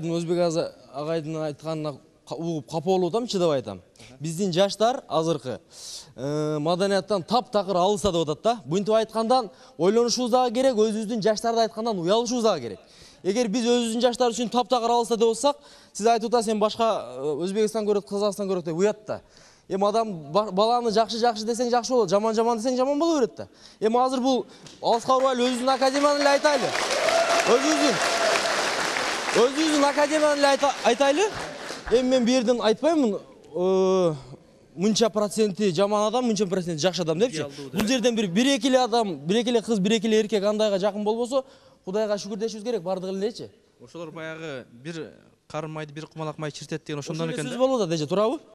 Өзбек агайдын айтканына угуп капа болуп атам, чыдап айтам. Биздин жаштар азыркы маданияттан таптакыр алыса деп атат да. Буинтип айткандан ойлонушубуз дагы керек, өзүбүздүн жаштарды айткандан уялышыбыз дагы керек. Эгер биз өзүбүздүн жаштар үчүн таптакыр алыса деп атсак, сиз айтып атасыз, сен башка Өзбекстан көрөт, Казакстан көрөт деп уят да. Адам баланы жакшы десең жакшы болот, жаман десең жаман боло берет да. Азыр бул алыска урбайлы өзүбүздүн академияны эле айтайлы. Өзүбүздүн академияны эле айтайлы. Мен бу жерден айтпаймын, мынча проценти жаман адам, мынча проценти жакшы адам депчи. Бул жерден бир эки эле адам, бир эки эле кыз, бир эки эле эркек андайга жакын болбосо, Кудайга шүгүр дешибиз керек, бардыгы элечи. Ошолор баягы бир карын майды, бир кумалак май чиртет деген ошондон экен да. Сөз болуп атат эже, туурабы?